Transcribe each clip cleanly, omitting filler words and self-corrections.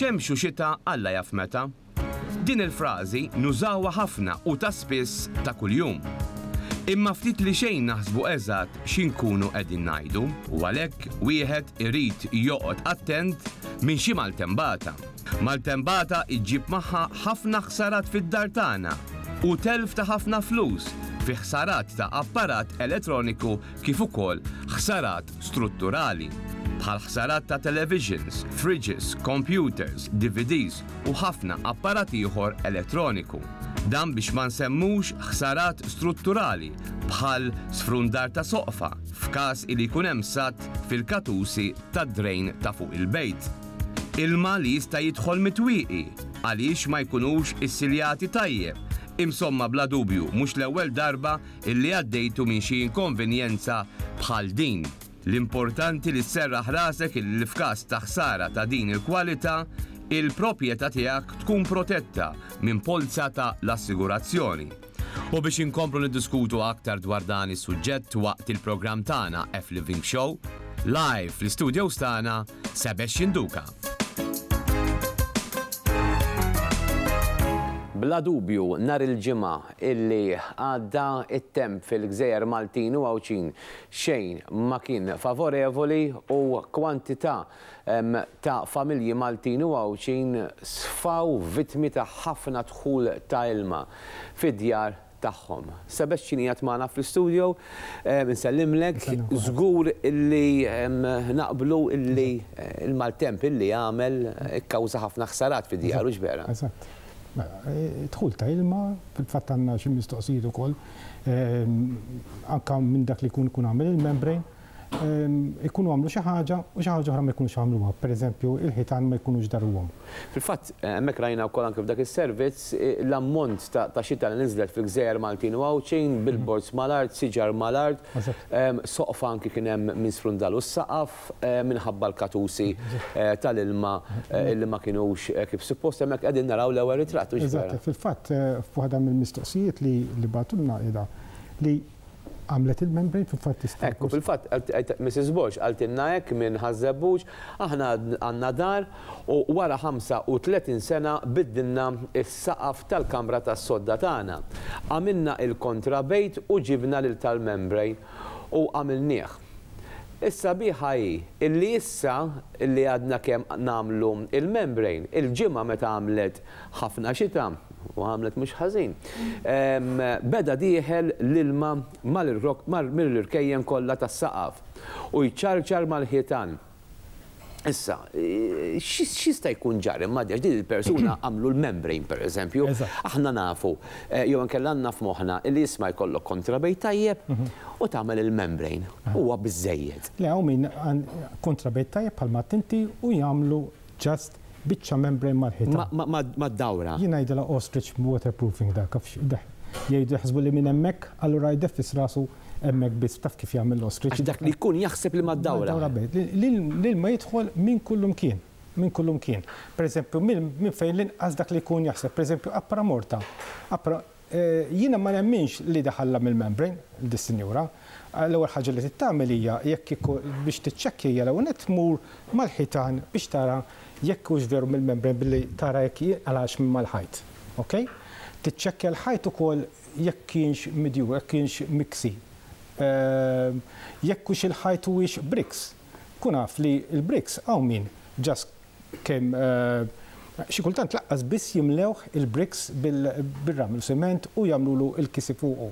Xemx u xita Alla jaf meta. Din il-frażi nużawha ħafna u ta' spiss ta' kuljum. Imma ftit li xejn naħsbu eżatt xi nkunu qegħdin ngħidu u għalhekk wieħed irid joqgħod attent minn xi maltembata. Maltembata ġġib magħha ħafna ħsarat fid-dar tagħna u telf ta' ħafna flus fi ħsarat ta' apparat elettroniku kif ukoll ħsarat strutturali, bħal ħsarat ta' televisions, fridges, computers, DVDs u ħafna apparat ieħor elettroniku. Dan biex ma nsemmux ħsarat strutturali bħal sfrundar ta' soqfa f'każ li jkun hemm sadd fil-katusi tad-drain ta' fuq il-bejt. Ilma li jista' jidħol mit-twieqi għaliex ma jkunux issiljati tajjeb. Imsomma bla dubju mhux l-ewwel darba illi għaddejtu minn xi inkonvenjenza bħal din. L-importanti li sserraħ rasek illi f'każ ta' ħsara ta' din il-kwalità, il-proprjetà tiegħek tkun protetta minn polza ta' l-assigurazzjoni. U biex inkomplu niddiskutu aktar dwar dan is-suġġett waqt il-programm tagħna F-Living Show, live fl-istudios tagħna Sebastian Duca. Bla dubju, nhar il-Ġimgħa illi għadda, it-temp fil-gżejjer Maltin u Għawdxin xejn ma kien favorevoli u kwantità ta' familji Maltin u Għawdxin sfaw vittmi ta' ħafna dħul ta' ilma fid-djar tagħhom. Sebastian qiegħed magħna fl-istudio, insellimlek, żgur illi naqblu illi l-maltemp illi għamel ikkawża ħafna ħsarat fid-djar, hux vera? Eżatt. Mela, dħul ta' ilma, fil-fatt għandna xi mistoqsijiet ukoll, anke minn dak li jkun ikun għamel il-membrane, ikunu għamlu xi ħaġa u xi ħaġa oħra ma jkunux għamluha. Pereżempju, il-ħitan ma jkunux daruhom. Fil-fatt, hemmhekk rajna wkoll anke f'dak is-servizz l-ammont ta' xita li niżlet fil-gżejjer Maltin u Għawdxin, billboards mal-art, siġar mal-art, soqfa anki kien hemm min sfrundalu s-saqaf minħabba l-katusi tal-ilma li ma kinux kif suppost. Hemmhekk qegħdin naraw l-ewwel ritratt, hux vera? Eżatt, fil-fatt f'waħda mill-mistoqsijiet li bagħtulna qiegħda li Għamlet il-membrane fil-fatt tista'. Ekku, fil-fatt Mrs Borg qaltilna hekk minn Ħaż-Żebbuġ, aħna għandna dar u wara 35 sena biddilna s-saqaf tal-kamra tas-sodda tagħna. Għamilna il-kontrabejt u ġibna lil tal-membrane u għamilnieh. Is-sabiħa hi illi issa li għadna kemm nagħmlu il-membrane, il-ġimgħa meta għamlet ħafna xita, u għamlet mhux ħażin, beda dieħel l-ilma mill-irkejjen kollha tas-saqaf u jċarċar mal-ħitan. Issa, x'jista' jkun ġara imma għax din il-persuna għamlu l-membrane pereżempju. Aħna nafu, jew inkella għandna f'moħħna li isma' jkollok kontrabejt tajjeb u tagħmel il-membrane. Huwa biżżejjed. Le, hawn min kontrabejt tajjeb bħalma għedt inti u jagħmlu just biċċa membrane mal-ħitan. Mad-dawra. Jien ngħidilha ostrich waterproofing dak, jgħidu jaħsbu li minn hemmhekk, allura jdeffis rasu hemmhekk biss, taf kif jagħmel l-ostrich. Għax dak li jkun jaħseb li mad-dawra. Mad-dawra biss. L-ilma jidħol minn kullumkien, minn kullumkien. Pereżempju, minn fejn l-inqas dak li jkun jaħseb, pereżempju appra morta. Appra Jiena ma nemminx li daħallha mill-membrane, dis-sinjura. L-ewwel ħaġa li trid tagħmel hija jekk kieku biex tiċċekkja hija l-ewwel nett tmur mal-ħitan biex tara jekk hux veru mill-membrane billi tara jekk jinqalax minn mal-ħajt. Ok? Tiċċekkja l-ħajt ukoll jekk kienx midjur, jekk kienx miksi. Jekk hux il-ħajt huwiex bricks. Kun af li l-bricks hawn min just Kemm xi kultant laqqas biss jimlewh il-bricks bir-ramel u siment u jagħmlulu l-kisi fuqu.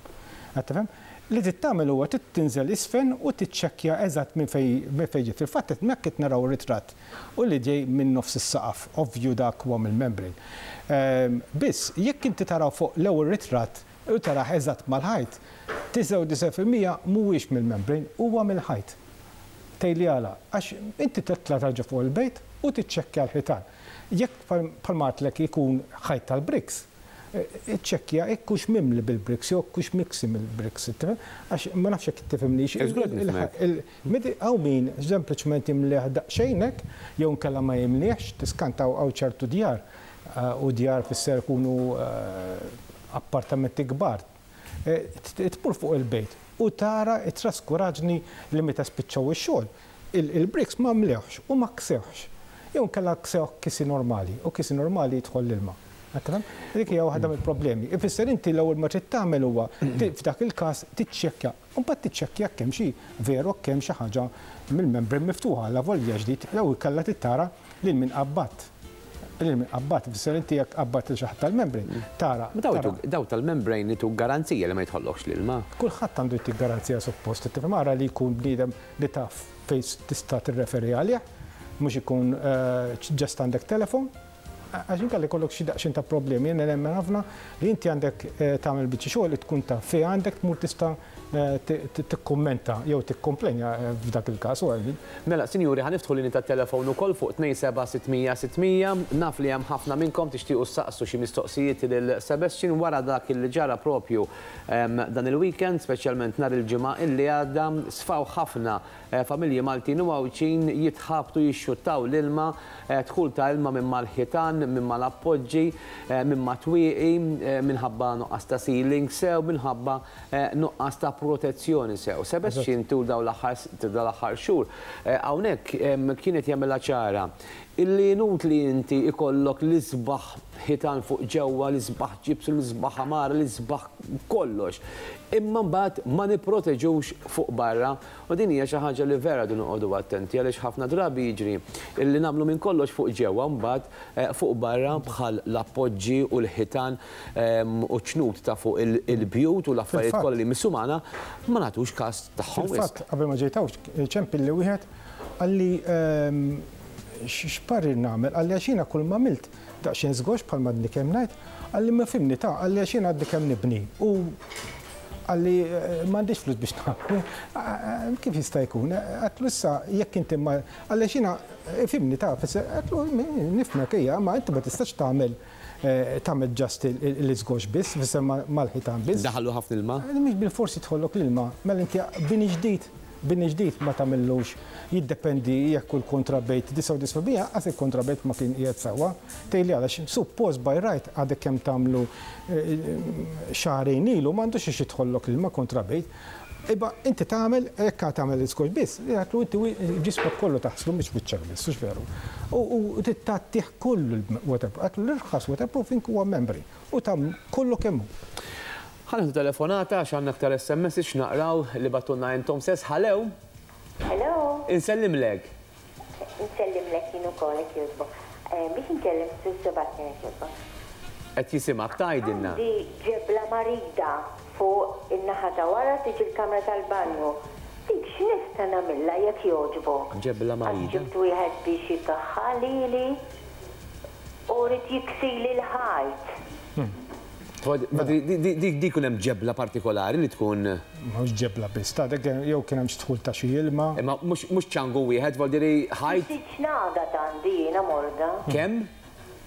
Qed tifhem? Li trid tagħmel huwa trid tinżel isfel u tiċċekkja eżatt minn fejn minn fejn ġiet. Fil-fatt qed hemmhekk qed naraw ritratt u li ġej minn nofs is-saqaf, ovvju dak huwa mill-membrane. Biss, jekk inti taraw fuq l-ewwel ritratt u tarah eżatt mal-ħajt, 99% mhuwiex mill-membrane, huwa mill-ħajt. Tgħidli għala? Għax inti titla' tarġa' fuq il-bejt u tiċċekkja l-ħitan. Jekk bħalma għedtlek ikun ħajt tal-bricks, iċċekkja jekk hux mimli bil-bricks jew jekk hux miksi mill-bricks, tifhem? Għax ma nafx jekk tifhimnix. Żgur qed nifhmek. Hawn min sempliċement jimlieh daqsxejn hekk, jew inkella ma jimliehx, tiskanta hawn ċertu djar, u djar fisser ikunu appartamenti kbar, Tmur fuq il-bejt u tara t-traskuraġni li meta spiċċaw ix-xogħol, il-bricks ma mlewhx u ma ksewhx. Jew inkella ksewh kisi normali u kisi normali jidħol l-ilma. Qed tifhem? Dik hija waħda mill-problemi. Ifisser inti l-ewwel ma trid tagħmel huwa f'dak il-każ tiċċekkja. U mbagħad tiċċekkja jekk hemm xi veru jekk hemm xi ħaġa mill-membrane miftuħa allavolja ġdid jew inkella trid tara lil min qabbadt. Lil min qabbadt, ifisser inti jekk qabbadt lil xi ħadd tal-membrane, tara. Ma daw tal-membrane jtuk garanzija li ma jidħollokx l-ilma. Kulħadd għandu jtik garanzija suppost, tifhem ara li jkun bniedem li taf fejn tista' tirreferi għalih, mhux ikun just għandek telefon. Għax inkella jkollok xi daqsxejn ta' problemi. Jiena nemmen ħafna li inti għandek tagħmel biċċa xogħol li tkun taf fejn għandek tmur tista' tikkummenta jew tikkomplenja f'dak il-każ. Mela, sinjuri, ħa niftħu linji tat-telefon ukoll fuq 27 600 600. Naf li hemm ħafna minnkom tixtiequ ssaqsu xi mistoqsijiet lil Sebastian wara dak li ġara propju dan il-weekend, speċjalment nhar il-Ġimgħa illi għadda, sfaw ħafna Familji Maltin u Għawdxin jitħabtu jixxuttaw l-ilma, dħul ta' ilma minn mal-ħitan, minn mal-appoġġi, minn mat-twieqi, minħabba nuqqas ta' ceiling sew, minħabba nuqqas ta' protezzjoni sew. Sebastian tul dawn l-aħħar xhur hawnhekk kien qed jagħmilha ċara illi inutli inti ikollok l-isbaħ ħitan fuq ġewwa, l-isbaħ ġibs, l-isbaħ għamara, l-isbaħ kollox. Imma mbagħad ma nipproteġux fuq barra U din hija xi ħaġa li vera rridu noqogħdu attenti għaliex ħafna drabi jiġri li nagħmlu minn kollox fuq ġewwa mbagħad fuq barra bħal l-appoġġi u l-ħitan u ċ-ċnut ta' fuq il-bjut u l-affarijiet kollha li jmissu magħna ma nagħtux każ tagħhom wisq. Fil-fatt, qabel ma ġejt hawn, ċempilli wieħed qalli x'parir nagħmel, qalli għax jiena kull m'għamilt daqsxejn żgox bħalma għadni kemm ngħid, qalli ma fimni ta' qalli għax jiena għadni kemm nibni u qalli m'għandix flus biex nagħmlu. Kif jista' jkun? Għedtlu issa jekk inti ma qalli għax jiena fimni ta' għedtlu nifhmek hija, ma inti ma tistax tagħmel tagħmel just l-iżgox biss, fisser mal-ħitan biss. Daħallu ħafna ilma? Mhix bilfors jidħollok l-ilma, mela inti bini ġdid Bini ġdid ma tagħmillux, jiddependi jekk hu l-kontrabejt 99% anqas il-kontrabejt ma kien qiegħed sewwa. Tgħidli għalax, suppost by right għadek kemm tagħmlu xahrejn ilu m'għandux għax jidħollok l-ilma kontrabejt. Iba inti tagħmel, jekk għad tagħmel l-iskotch biss, jgħidlu inti ġismek kollu taħslu mhux wiċċek biss, hux veru. U trid tgħattih kollu l-waterproof. Għidlu l-irħas waterproofing huwa membrane u tagħmlu kollu kemm hu. Ħa nieħdu telefonata għax għandna aktar SMSs x'naqraw li bagħtulna intom stess. Hallo! Hello! Insellimlek. Insellimlek jien ukoll jekk jogħġbok. Biex inkellem Sur Sebastian jekk jogħġbok. Qed jisimgħek, tgħidilna. Għandi ġebla marida fuq in-naħa ta' wara tiġi l-kamra tal-banju. Dik x'nista' nagħmilha jekk jogħġbok? Ġebla marida. Għax ġibt wieħed biex ikaħħal lili u ried jiksili l-ħajt. Dik jkun hemm ġebla partikolari li tkun. Mhux ġebla biss, ta' dik jew kien hemm xi dħul ta' xi ilma. Imma mhux ċangu wieħed, vuol dire ħajt. Xi ċnagat għandi jiena morda. Kemm?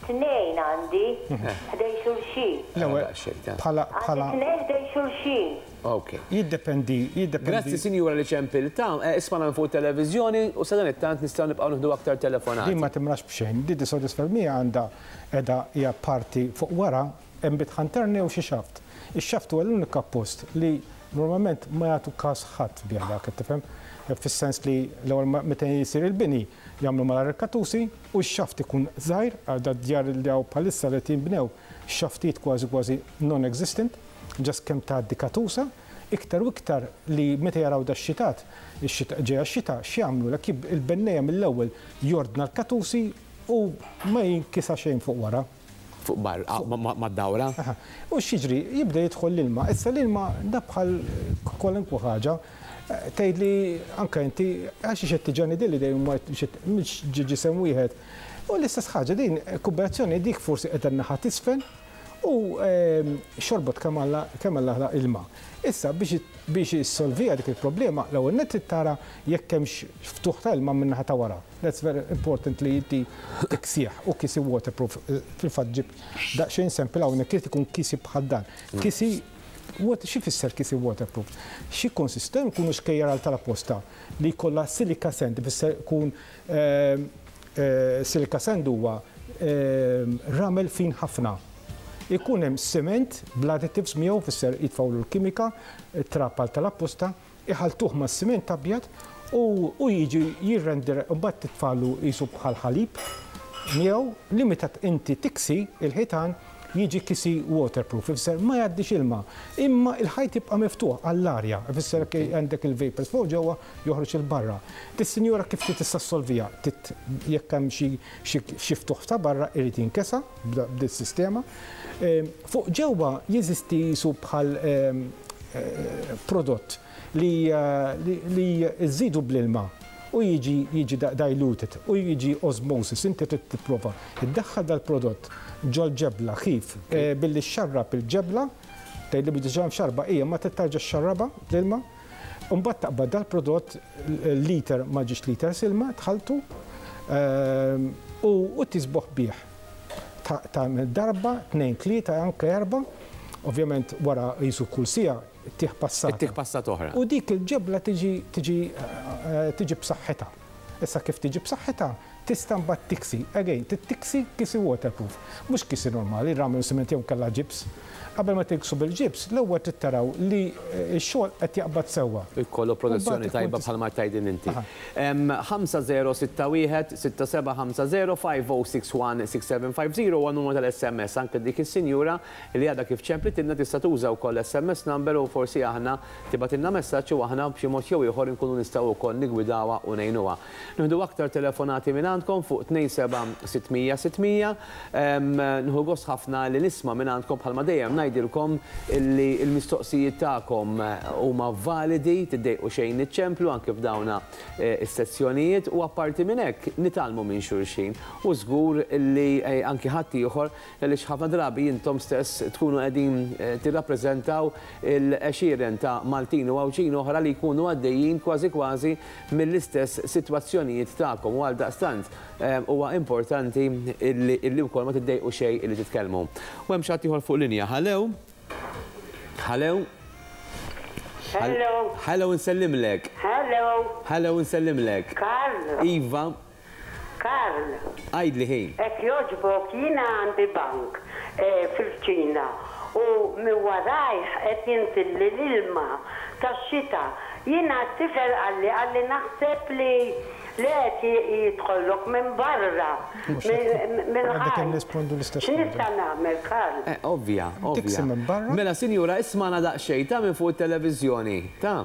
Tnejn għandi, ħdejn xulxin. L-ewwel bħala bħala. Għandi tnejn ħdejn xulxin. Ok. Jiddependi, jiddependi. Grazzi sinjura li ċempilta. Ismagħna minn fuq it-televiżjoni u sadanittant nistgħu nibqgħu nieħdu aktar telefonati. Din ma timrax b'xejn. Di disodisfermija għandha qiegħda hija parti fuq wara Hemm bitħa interna jew xi xaft. Ix-xaft huwa l-unika post li normalment ma jagħtu każ ħadd bih dak, qed tifhem? Fis-sens li l-ewwel meta jsir il-bini jagħmlu malajr il-katusi u x-xaft ikun żgħir, għal dad-djar li hawn bħalissa li qed jinbnew x-xaftijiet kważi kważi non-existent, just kemm tgħaddi katusa, iktar u iktar li meta jaraw dax-xitat, ix-xita ġejja x-xita, x'jagħmlu? Lek il-bennejja mill-ewwel jordna l-katusi u ma jinkisa xejn fuq wara. Fuq barra, mad-dawra. Aha. U x'jiġri? Jibda jidħol l-ilma. Issa l-ilma da bħal kwalunkwe ħaġa. Tgħidli anke inti għax xi tiġani din li dejjem mhux ġisem wieħed. U l-istess ħaġa din kombinazzjoni dik forsi qiegħda n-naħa t'isfel u xorbot kemm Alla kemm Alla ħlaq ilma. Issa biex biex issolviha dik il-problema l-ewwel nett trid tara jekk hemmx ftuħ ta' ilma min-naħa ta' wara. That's very important li inti tiksih u kisi waterproof. Fil-fatt ġibt daqsxejn sample hawnhekk irid ikun kisi bħal dan. Kisi xi fisser kisi waterproof? Xi konsist ikunu xkejjer għal tal-apposta li jkollha silica sand, ifisser ikun silica sand huwa ramel fin ħafna. Ikun hemm cement bl-additives miegħu fisser jitfgħulu l-kimika, trab għal tal-apposta, iħalltuh mas-siment abjad U jiġi jirrender, mbagħad titfagħlu qisu bħal ħalib miegħu li meta inti tiksi il-ħitan jiġi kisi waterproof, ifisser ma jgħaddix ilma, imma il-ħajt jibqa' miftuħ għall-arja, ifisser għandek il-vapors fuq ġewwa joħroġ 'il barra. Dis-sinjura kif trid tista' ssolviha? Trid jekk hemm xi xi ftuħ ta' barra irid jinkesa b'dis-sistema. Fuq ġewwa jeżisti qisu bħal prodott li li żżidu bl-ilma u jiġi jiġi diluted u jiġi osmosis. Inti trid tipprova ddaħħal dal-prodott ġol-ġebla kif? Billi xxarrab il-ġebla, tgħidli biex diġà mxarrba hija, ma trid tarġa' xxarrabha bl-ilma. U mbagħad taqbad dal-prodott liter ma' ġiex liters ilma, tħalltu u tisboħ bih. Tagħmel darba, tnejn, tlieta, anke erba', ovvjament wara qisu kull siegħa ttih passata. Ittih passata oħra. U dik il-ġebla tiġi tiġi tiġi b'saħħitha. Issa kif tiġi b'saħħitha, tista' mbagħad tiksi. Again, trid tiksi kisi waterproof. Mhux kisi normali, ramel u siment jew inkella ġibs. Qabel ma tiksu bil-ġibs, l-ewwel trid taraw li x-xogħol qed jaqbad sewwa. Jkollu protezzjoni tajba bħalma qed tgħidilna inti. 5061 6750 5061 6750 huwa n-numru tal-SMS. Anke dik is-sinjura li għadha kif ċemplitilna tista' tuża wkoll l-SMS number u forsi aħna tibgħatilna messaġġ u aħna b'xi mod jew ieħor inkunu nistgħu wkoll niggwidawha u ngħinuha. Nieħdu aktar telefonati mingħandkom fuq 27 600 600. Nieħu gost ħafna li nisma' mingħandkom bħalma dejjem ngħidilkom li l-mistoqsijiet tagħkom huma validi, tiddejqu xejn niċċemplu anke f'dawna is-sezzjonijiet u apparti minn hekk nitgħallmu minn xulxin u żgur li anki ħaddieħor għaliex ħafna drabi intom stess tkunu qegħdin tirrappreżentaw il-għexieren ta' Maltin u Għawdxin oħra li jkunu għaddejjin kważi kważi mill-istess sitwazzjonijiet tagħkom u għaldaqstant huwa importanti illi wkoll ma tiddejqu xejn illi titkellmu. U hemm xi ħadd ieħor fuq linja. Hallo? Hallo? Hello. Hello nsellimlek. Hello. Hello nsellimlek. Karl. Iva. Karl. Għidli ħi. Hekk jogħġbok jiena għandi bank fil-kċina u minn warajh qed jinżilli l-ilma tax-xita. Jiena t-tifel qalli qalli naħseb li li qed jidħollok minn barra mill-ħajt. X'nista' nagħmel Karl? Ovvja, ovvja. Mela sinjura ismagħna daqsxejn ta' minn fuq it-televiżjoni, ta'.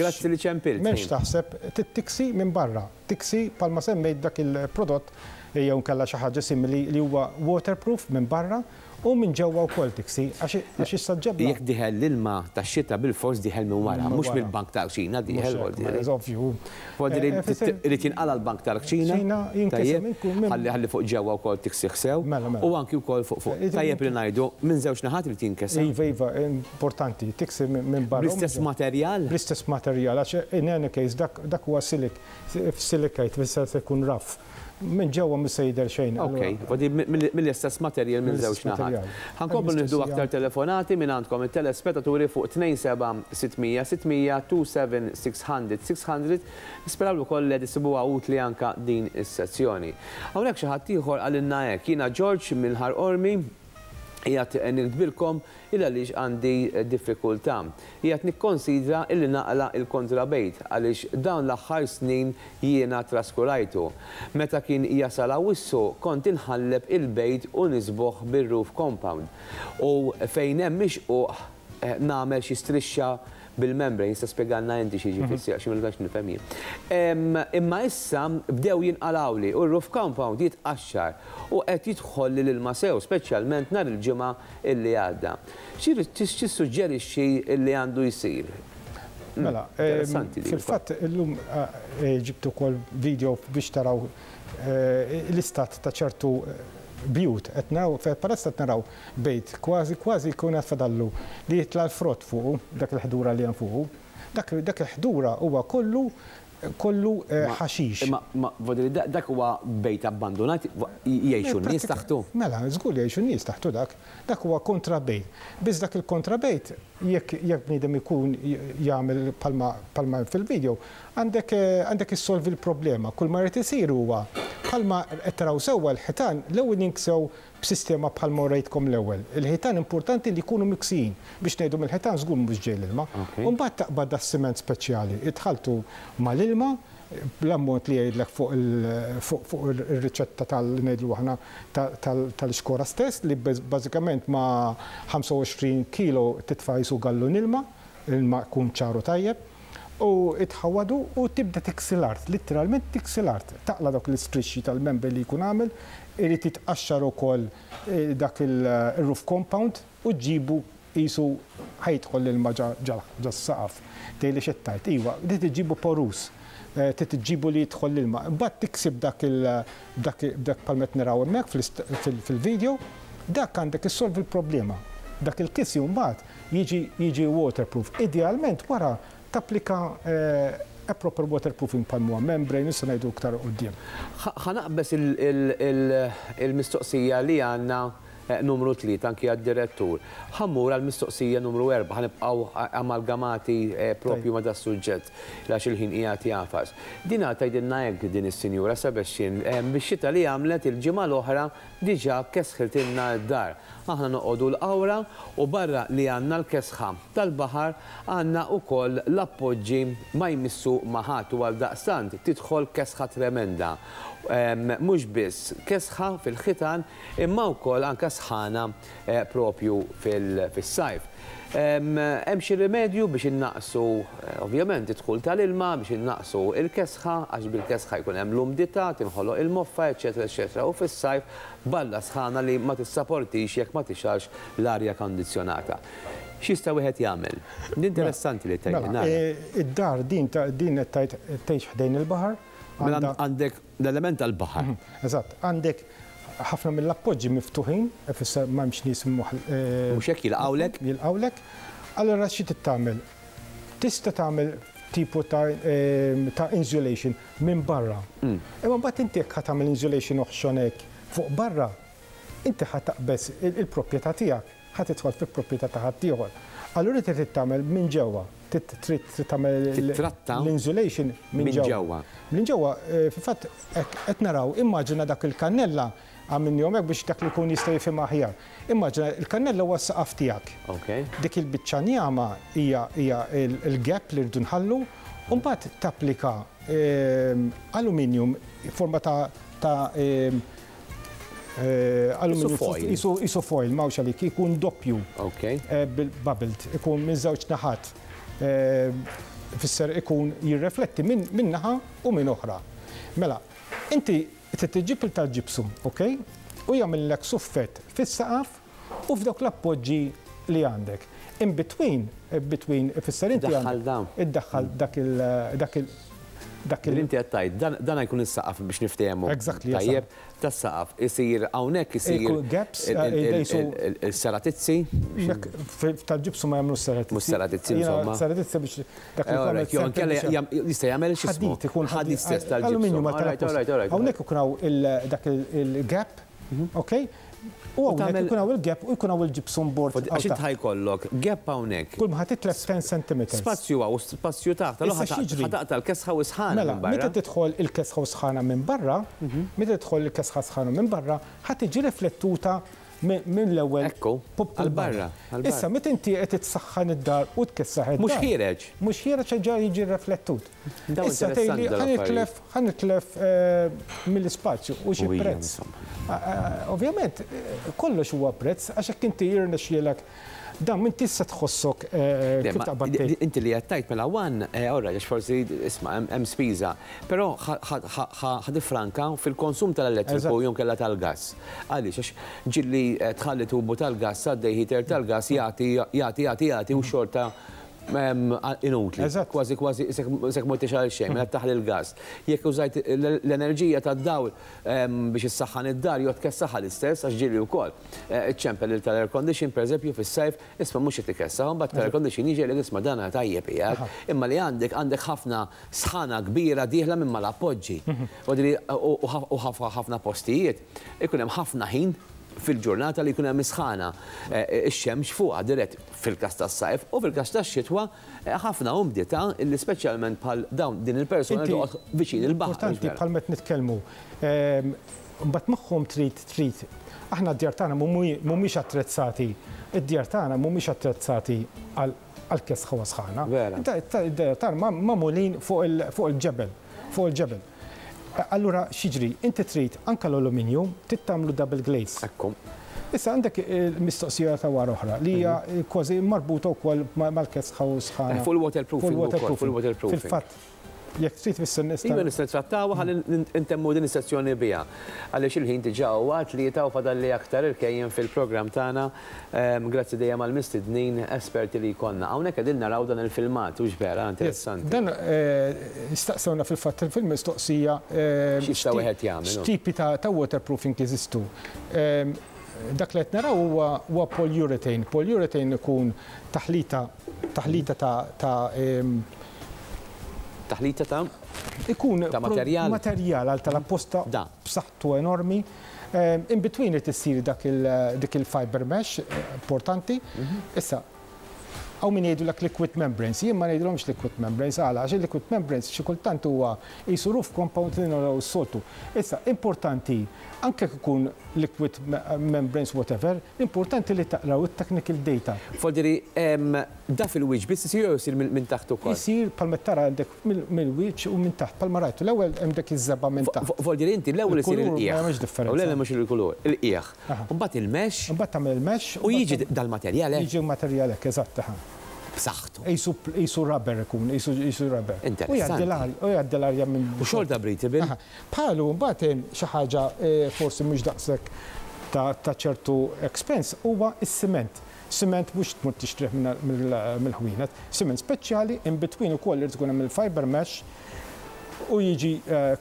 Grazzi li ċempilt. M'hemmx taħseb, trid tiksi minn barra. Tiksi bħalma semmejt dak il-prodott jew inkella xi ħaġa simili li huwa waterproof minn barra u minn ġewwa wkoll tiksi għax issa ġebla. Jekk dieħel l-ilma tax-xita bilfors dieħel minn wara, mhux mill-bank tal-kċina dieħel vuol dire. Ovvju. Vuol dire irid jinqala' l-bank tal-kċina. Jinkiseb Ħalli ħalli fuq ġewwa wkoll tiksih sew. U anki wkoll fuq fuq. Tajjeb li ngħidu minn żewġ naħat irid jinkesa. Iva, iva, importanti, tiksi minn barra. Bl-istess materjal? Bl-istess materjal għax in any case dak huwa silik F'silicate tfisser se jkun rough. Minn ġewwa mhux se jidher xejn. Ok, vodi mill-istess materjal minn żewġ naħat. Ħa nkomplu nieħdu aktar telefonati mingħandkom it-telespettaturi fuq 27 600 600 27 600 600. Nisperaw ukoll li qed issibuha utli anke din is-sezzjoni. Hawnhekk xi ħadd ieħor qalilna hekk, jiena George minn Ħar Qormi, qiegħed niktbilkom il għaliex għandi diffikultà. Qiegħed nikkonsidra illi naqla' il-kontrabejt għaliex dawn l-aħħar snin jiena traskurajtu. Meta kien jasal Awwissu kont inħalleb il-bejt u niżbogħ bir-roof compound u fejn hemm ix-xquq nagħmel xi strixxa bil-membrane, issa spjegalna inti xi jiġifieri għax ma tantx nifhem jien. Imma issa bdew jinqalgħuli u r-roof compound jitqaxxar u qed jidħolli l-ilma sew, speċjalment nhar il-Ġimgħa illi għadda. X'tissuġġerixxi li għandu jsir? Mela, fil-fatt illum ġibt ukoll video biex taraw l-istat ta' ċertu bjut. Qed naraw, palazz qed naraw bejt kważi kważi jkun għad fadallu li jitla' l-frott fuqu, dak il-ħdura li hemm fuqu. Dak dak il-ħdura huwa kollu kollu ħaxix. Imma ma voldiri dak huwa bejt abbandunat jgħixu n-nies taħtu? Mela, żgur li jgħixu n-nies taħtu dak. Dak huwa kontrabejt. Biss dak il-kontrabejt jekk jekk bniedem ikun jagħmel bħalma bħalma hemm fil-video, għandek għandek issolvi l-problema. Kull ma jrid isir huwa Bħalma qed taraw sewwa l-ħitan l-ewwel jinksew b'sistema bħalma urejtkom l-ewwel. Il-ħitan importanti li jkunu miksijin biex ngħidu mill-ħitan żgur mhux ġej l-ilma. U mbagħad taqbad das-siment speċjali, tħalltu mal-ilma bl-ammont li jgħidlek fuq fuq ir-riċetta tal ngħidlu aħna tal-ixkora stess li bażikament ma' 25 kilo titfa' qisu gallun ilma, ilma jkun ċar u tajjeb, u tħawwadu u tibda tiksi l-art, litteralment tiksi l-art. Taqla' dawk l-istrixxi tal-membrane li jkun għamel, irid jitqaxxar ukoll dak ir-roof compound u ġġibu qisu ħa jidħol l-ilma ġas-saqaf. Tgħidli x'qed tgħid? Iva, trid iġġibu porous, trid iġġibu li jidħol l-ilma. Imbagħad tiksib dak il dak dak bħalma qed naraw hemmhekk fil-video, dak għandek issolvi l-problema. Dak il-kisi mbagħad jiġi jiġi waterproof. Idealment wara tapplika a proper waterproofing bħal huwa membrane, issa ngħidu iktar quddiem. Ħa naqbeż il-mistoqsija li għandna numru 3 anki għad-direttur. Ħa mmur għall-mistoqsija numru 4, ħa nibqgħu amalgamati propju ma' das-suġġett għax il-ħin qiegħed jagħfas. Din tgħidilna hekk din is-sinjura Sebastian, bix-xita li għamlet il-ġimgħa l-oħra diġà kesħiltilna d-dar. Aħna noqogħdu l-Qawra u barra li għandna l-kesħa tal-baħar għandna wkoll l-appoġġi ma jmissu ma' ħadd u għaldaqstant tidħol kesħa tremenda. Mhux biss kesħa fil-ħitan imma wkoll anke sħana propju fis-sajf. Hemm xi rimedju biex innaqqsu ovvjament id-dħul tal-ilma, biex innaqqsu l-kesħa, għax bil-kesħa jkun hemm l-umdità, tinħoloq il-moffa, eċċetera eċċetera, u fis-sajf balla sħana li ma tissaportix jekk ma tixgħalx l-arja kondizzjonata. X'jista' wieħed jagħmel? Interessanti li tgħidli. Mela, id-dar din din qed tgħid tgħix ħdejn il-baħar. Mela għandek l-element tal-baħar. Eżatt, għandek ħafna mill-appoġġi miftuħin, ifisser m'hemmx nies Mhux hekk jilqgħulek? Jilqgħulek. Allura xi trid tagħmel? Tista' tagħmel tipo ta' insulation minn barra. Imma mbagħad inti jekk ħa tagħmel insulation oħxon hekk fuq barra, inti ħa taqbeż il-proprjetà tiegħek, ħa tidħol fil-proprjetà ta' ħaddieħor. Allura inti trid tagħmel minn ġewwa, trid tagħmel l-insulation minn ġewwa. Minn ġewwa, fil-fatt qed naraw, immaġina dak il-kannella għamilnihom hekk biex dak li jkun jista' jifhimha aħjar. Immaġina il-kannella huwa s-saqaf tiegħek. Dik il-biċċa njama hija l-gap li rridu nħallu, u mbagħad tapplika aluminium forma ta' aluminium isu foil m'hawnx għalik, ikun doppju. Bil-bubbled, ikun minn żewġ naħat. Fisser ikun jirrefletti minn naħa u minn oħra. Mela, inti trid iġġib il tal-gypsum, ok? U jagħmillek suffett fis-saqaf u f'dawk l-appoġġi li għandek. In between, between ifisser inti iddaħħal dak il dak il dak il Inti qed tgħid dan jkun is-saqaf biex niftehmu. Exactly. Tajjeb, tas-saqaf isir hawnhekk isir gaps il-seratizzi. Tal-gypsum ma jagħmlux seratizzi. Mhux seratizzi insomma. Seratizzi biex dak li jista' jagħmel xi ħadid ikun ħadid stess tal-gypsum. Hawnhekk ikun hawn dak il-gap, ok? U hawnhekk ikun hawn il-gap u jkun hawn il-gypsum board. Għax int ħa jkollok gap hawnhekk. Kull ma ħa titlef 10 cm. Spazju hawn u spazju taħt. Allura ħa taqta' l-kesħa u sħana minn barra. Mela, meta tidħol il-kesħa u sħana minn barra, meta tidħol il-kesħa sħana minn barra, ħa tiġi riflettuta minn l-ewwel Ekku, għal barra. Issa, meta inti qed tsaħħan id-dar u tkessaħ id-dar. Mhux ħiereġ. Mhux ħiereġ ġa jiġi riflettut. Issa tgħidli ħa nitlef mill-ispazju u xi prezz. Ovvjament, kollox huwa prezz għax hekk inti jirnexxielek dan minn tista' tħossok kif taqbad. Inti li qed tgħid mela one, ora għax forsi isma' hemm spiża, però ħa tifranka fil-konsum tal-elettriku jew inkella tal-gass. Għaliex għax ġieli tħalli tubu tal-gass għaddej heater tal-gass jagħti jagħti jagħti jagħti u xorta inutli. Kważi kważi isek ma tixgħal xejn, mela taħli l-gas. Jekk użajt l-enerġija tad-dawl biex issaħħan id-dar jew tkessaħha l-istess għax ġieli wkoll. Iċċempel il tal-air condition pereżempju fis-sajf, isma' mhux qed ikessaħ, mbagħad tal-air condition jiġi li isma' dan tajjeb qiegħed. Imma li għandek għandek ħafna sħana kbira dieħla minn mal-appoġġi. U ħafna postijiet ikun hemm ħafna ħin. fil-ġurnata li jkun hemm is-sħana, ix-xemx fuqha dirett fil-każ tas-sajf u fil-każ tax-xitwa ħafna umdità illi speċjalment bħal dawn din il-persuna li toqgħod viċin il-baħar. Importanti bħal meta nitkellmu, mbagħad magħhom trid trid aħna d-djar tagħna mhumiex attrezzati, id-djar tagħna mhumiex attrezzati għal kesħa u sħana. Id-djar tagħna magħmulin fuq il-ġebel, fuq il-ġebel. Allura x'jiġri? Inti trid anke l-alluminju trid tagħmlu double glaze. Ekku. Issa għandek mistoqsija ta' wara oħra li hija kważi marbuta wkoll mal-kesħa u sħana. Fuq il-waterproofing. Fuq il-waterproofing. Fil-fatt, jekk trid issa nista'. Iva nista' nittrattawha ħalli ntemmu din is-sezzjoni biha. Għaliex il-ħin diġà huwa 3 u fadalli aktar irkejjen fil-programm tagħna. Grazzi dejjem għall-mistednin esperti li jkollna. Hawnhekk qegħdin naraw dan il-filmat, hux vera? Interessanti. Dan staqsewna fil-fatt fil-mistoqsija x'jista' wieħed jagħmel. X'tipi ta' waterproofing jeżistu. Dak li qed naraw huwa polyurethane. Polyurethane ikun taħlita taħlita ta' taħlita ta' ikun ta' materjal materjal għal tal-apposta b'saħħtu enormi. In between irid issir dak dik il-fiber mesh importanti. Issa hawn min jgħidulek liquid membranes, jien ma ngħidilhomx liquid membranes għala għax il-liquid membranes xi kultant huwa qisu roof compound li naraw s-soltu. Issa importanti anke ikun liquid membranes whatever, importanti li taqraw it-technical data. Fodiri, da fil-wiċċ biss isir jew isir minn taħt ukoll? Isir bħalma tara għandek mill-wiċċ u minn taħt, bħalma rajtu l-ewwel hemm dak iż-żebgħa minn taħt. Fodiri inti l-ewwel isir il-qiegħ. Ma hemmx differenza. U l-ewwel mhux il-kulur, il-qiegħ. Mbagħad il-mesh. Mbagħad tagħmel il-mesh. U jiġi dal-materjal hekk. Jiġi materjal hekk, eżatt. B'saħħtu. Qisu rubber ikun, qisu rubber. Interessanti. U jgħaddi l-arja minn. U xorta breathable. Bħalu mbagħad hemm xi ħaġa forsi mhux daqshekk ta' ċertu expense huwa s-siment. Siment mhux tmur tixtrih mill-ħwienet, siment speċjali in between ukoll irid ikun hemm il-fiber mesh u jiġi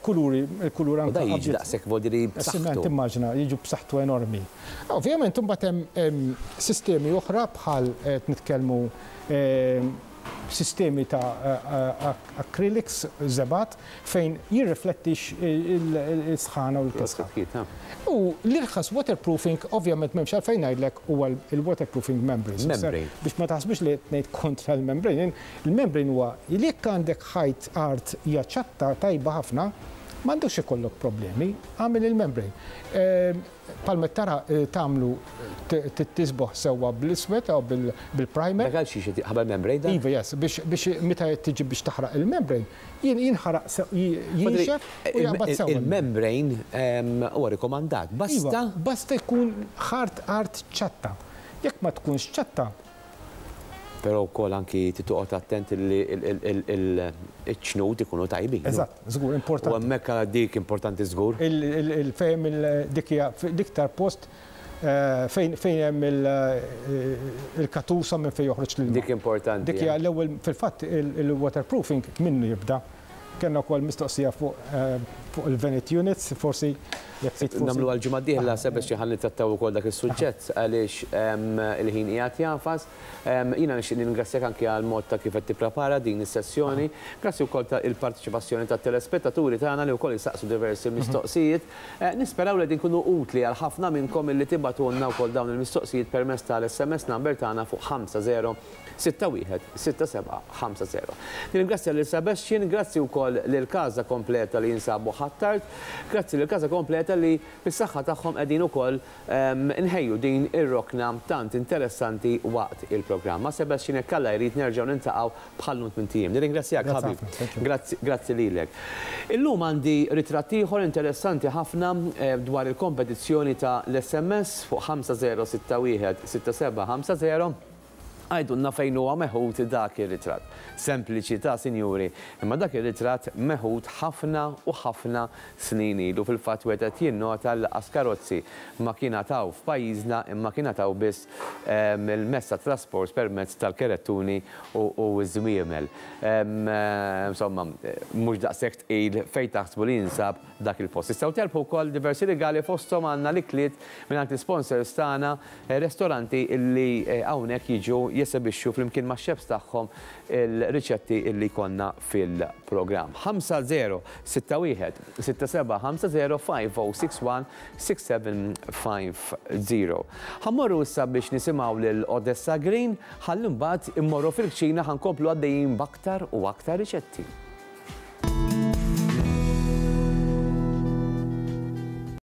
kuluri, il-kulur anke. U da jiġi daqshekk vodiri b'saħħtu. Siment immaġina jiġu b'saħħtu enormi. Ovvjament imbagħad hemm sistemi oħra bħal qed nitkellmu sistemi ta' acrylics żebgħat fejn jirriflettix il-sħana u l-kesħa. U l-irħas waterproofing ovvjament m'hemmx għalfejn ngħidlek huwa il-waterproofing membranes. Membrane. Biex ma taħsbux li qed ngħid kontra l-membrane, il-membrane huwa li jekk għandek ħajt art hija ċatta tajba ħafna, m'għandux ikollok problemi, għamel il-membrane. Palmet tara tagħmlu tisboħ sewwa bl-iswed jew bil-primer. Dak għal xiex ħabel membrane dan? Iva, yes, biex meta tiġi biex taħraq il-membrane, jinħaraq jinxef u jaqbad sewwa. Il-membrane huwa rikomandat. Basta? Basta jkun ħart art ċatta. Jekk ma tkunx ċatta. Però wkoll anki titoqgħod attent li l-ċnut ikunu tajbin. Eżatt, żgur, importanti. U hemmhekk dik importanti żgur. Il-fejn dik hija l-iktar post fejn hemm il-katusa minn fejn joħroġ l-ilma. Dik importanti. Dik hija l-ewwel fil-fatt il-waterproofing minnu jibda. Kellna wkoll mistoqsija fuq il-Vanity Units, forsi jekk trid forsi. Nagħmlu għall-ġimgħa d-dieħla Sebastian ħalli nittrattaw ukoll dak is-suġġett għaliex il-ħin qiegħed jafas. Jiena nixtieq ningrazzjak anke għal mod ta' kif qed tipprepara din is-sessjoni. Grazzi wkoll ta' il-parteċipazzjoni tat-telespettaturi tagħna li wkoll jistaqsu diversi mistoqsijiet. Nisperaw li qegħdin nkunu utli għal ħafna minnkom illi tibgħatulna wkoll dawn il-mistoqsijiet permezz tal-SMS number tagħna fuq 5061 6750. Nirringrazzja lil Sebastian, grazzi wkoll lil Casa Kompleta li jinsabu Ħ'Attard, grazzi lil Casa Kompleta li bis-saħħa tagħhom qegħdin ukoll nħejju din ir-rokna tant interessanti waqt il-programm. Ma' Sebastian jekk Alla jrid nerġgħu niltaqgħu bħal minn tiem. Nirringrazzjak ħabib. Grazzi, grazzi lilek. Illum għandi ritratt ieħor interessanti ħafna dwar il-kompetizzjoni ta' l-SMS fuq 5061 6750. Għajdunna fejn huwa meħud dak ir-ritratt. Sempliċi ta' sinjuri, imma dak ir-ritratt meħud ħafna u ħafna snin ilu. Fil-fatt wieħed qed jinnota li qas karozzi ma kien għataw f'pajjiżna imma kien għataw biss il-mezz ta' trasport permezz tal-kerettuni u ż-żwiemel. Insomma, mhux daqshekk tqil fejn taħsbu li jinsab dak il-post. Tistgħu terbħu wkoll diversi rigali fosthom għandna l-ikliet mingħand l-sponsors tagħna, restoranti illi hawnhekk jiġu jesebixxu flimkien max-chefs tagħhom il-riċetti illi jkollna fil-programm. 5 0 6 1 6 7 5 0 5061 6750. Ħa mmorru issa biex nisimgħu lil Odessa Green, ħalli mbagħad immorru fil-kċina, ħa nkomplu għaddejjin b'aktar u aktar riċetti.